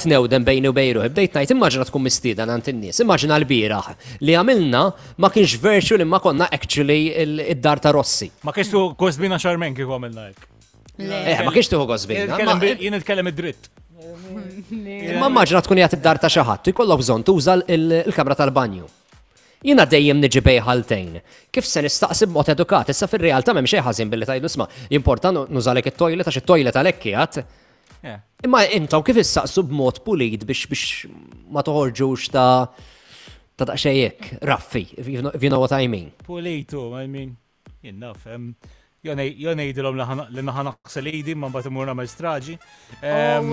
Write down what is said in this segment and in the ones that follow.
Tnewden bejni u bejn ruħi, bdejt ngħid immaġina tkun mistieden għand in-nies, immaġina l-bieraħ li għamilna ma kienx virtual imma konna actually id-dar ta' Rossi. Ma kienx tu gost bina xarmen kieku għamilna hekk. Eh, ma kienx tuħu gost bina. Jien nitkellem id-dritt. Imma immaġina tkun qiegħed id-dar ta' xi ħadd u jkollok bżonn tuża l-kamra tal-banju. Jiena dejjem niġi bejn ħaltejn. Kif se nistaqsi b'mod edukat? Issa fir-realtà m'hemm xejn ħażin billi tgħidlu isma' jimporta nużalek it-toilet għax it-toilet għalhekk qiegħed. Imma intom kif issaqsu b'mod pulit biex biex ma toħorġux ta' ta' daqsxejn hekk, raffi, if you know what I mean. Pulitu, I mean, jien naf, jo ngħidilhom li naħa naqsel idi ma mbagħad imur nagħmel straġi. Oh,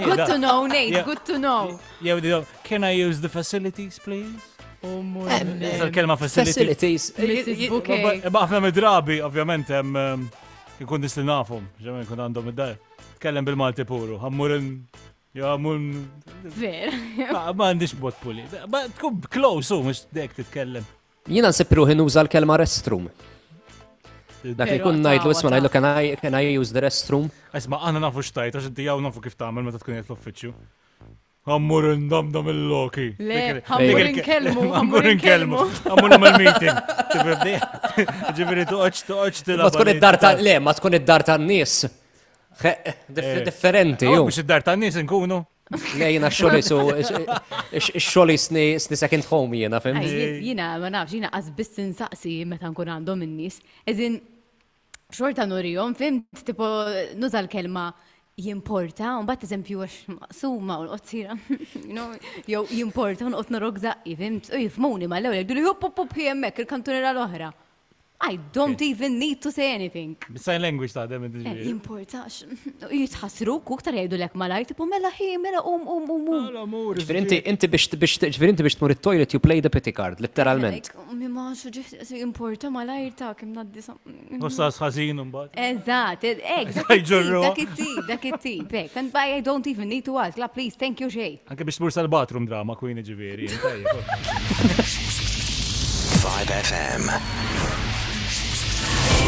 Good to know, Nate, good to know. Jew can I use the facilities, please? Il-kelma facilities. Mrs. Bouquet. Imma ħafna mid-drabi, ovvjament, Ikun nies li nafhom, ġemma jkun għandhom id-dar. Tkellem bil-Malti puru, ħammurin, ja mun. Ver. Ma għandix bot puli. Ma tkun close u mhux dek titkellem. Jiena nsib ruħi nuża l-kelma restroom. Dak li kun ngħidlu isma' ngħidlu can I, can I use the restroom? Isma' aħna nafu x'tajt għax inti jew nafu kif tagħmel meta tkun qed l-uffiċċju. Għammur ndamdam il-loki. Le, għammur inkellmu. Għammur inkellmu. Għammur namel meeting. Ġifiri toqgħodx toqgħodx tilgħab. Ma tkun id-dar ta' le, ma tkun id-dar tan-nies. Eh, differenti. Mhux id-dar tan-nies inkunu. Le jiena xogħli su xogħli sni second home jiena fim. Jiena ma nafx jiena qas biss insaqsi meta nkun għandhom in-nies. Eżin xorta nurihom, fimt, tipo, nuża l-kelma jimporta, un bat eżempju għax maqsuma u l-qotzira, jew jimporta un qot norok zaqqi, fimt, u jifmuni ma l-ewel, jgħidu li hup hup hup hemmhekk il-kantuniera l-oħra. I don't even need to say anything. Sign language ta' dem eh, Jimportax. Jitħassru u ktar jgħidu lek malajr, tipo mela ħi, mela um um um um. Ġifieri inti inti biex biex ġifieri inti biex tmur it-toilet you play the pity card, literalment. Mi ma importa malajr ta' kim naddi Mussas ħażin imbagħad. Eżatt, hekk, dak it-tip, dak it-tip, hekk. And I don't even need to ask, la please, thank you xejn. Anke biex tmur sal-bathroom drama queen ġifieri. 5FM.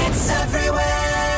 It's everywhere.